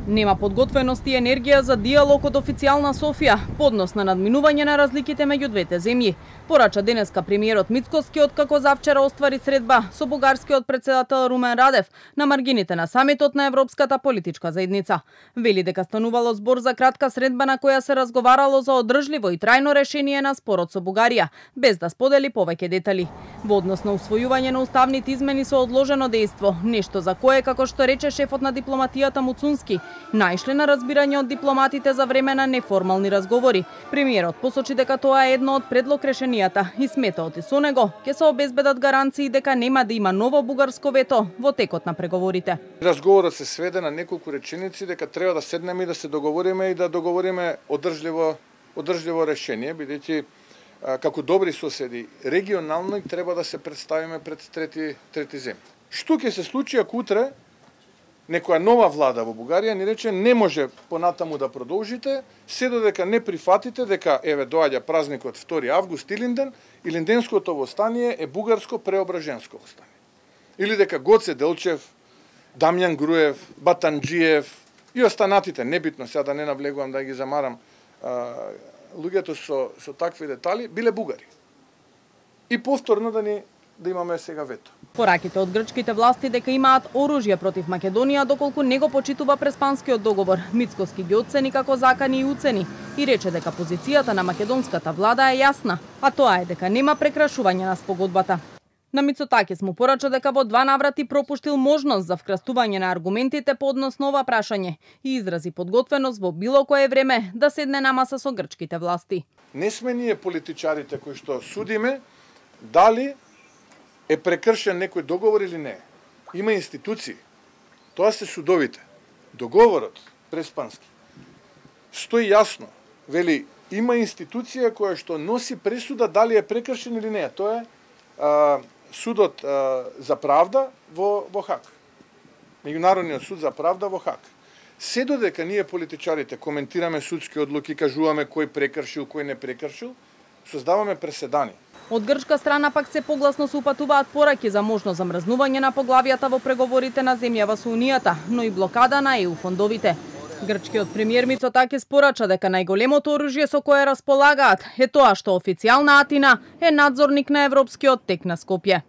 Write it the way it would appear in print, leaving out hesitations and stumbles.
Нема подготвеност и енергија за диалог од официјална Софија, поднос на надминување на разликите меѓу двете земји. Порача денеска премиерот Мицкоски откако завчера оствари средба со бугарскиот председател Румен Радев на маргините на самитот на Европската политичка заедница. Вели дека станувало збор за кратка средба на која се разговарало за одржливо и трајно решение на спорот со Бугарија, без да сподели повеќе детали. Во однос на усвојување на уставните измени со одложено дејство, нешто за кое, како што рече шефот на дипломатијата Муцунски, најшле на разбирање од дипломатите за време на неформални разговори. Премиерот посочи дека тоа е едно од предлог решенијата и сметаот и со него ќе се обезбедат гаранции дека нема да има ново бугарско вето во текот на преговорите. Разговорот се сведе на неколку реченици дека треба да седнеме и да се договориме и да договориме одржливо решение, бидејќи како добри соседи регионално треба да се представиме пред трети земји. Што ќе се случи ако утре некоја нова влада во Бугарија ни рече не може понатаму да продолжите, се додека не прифатите дека еве доаѓа празникот 2 август Илинденското востание е бугарско преображенско востание. Или дека Гоце Делчев, Дамјан Груев, Батанџиев и останатите, небитно сега да не навлегувам да ги замарам луѓето со такви детали, биле бугари. И повторно да имаме сега вето. Пораките од грчките власти дека имаат оружје против Македонија доколку не го почитува Преспанскиот договор, Мицкоски ги оцени како закани и уцени и рече дека позицијата на македонската влада е јасна, а тоа е дека нема прекрашување на спогодбата. На Мицотакис му порача дека во 2 наврати пропуштил можност за вкрстување на аргументите по однос на ова прашање и изрази подготвеност во било кое време да седне на маса со грчките власти. Не сме ние политичарите кои што судиме дали е прекршен некој договор или не. Има институции. Тоа се судовите. Договорот Преспански стои јасно. Вели, има институција која што носи пресуда дали е прекршен или не. Тоа е судот за правда во Хаг. Меѓународниот суд за правда во Хаг. Се додека ние политичарите коментираме судски одлуки, кажуваме кој прекршил, кој не прекршил, создаваме преседани. Од грчка страна пак се погласно се упатуваат пораки за можно замрзнување на поглавијата во преговорите на земјава со Унијата, но и блокада на ЕУ фондовите. Грчкиот премиер Мицотакис порача дека најголемото оружје со кое располагаат е тоа што официјална Атина е надзорник на европскиот тек на Скопје.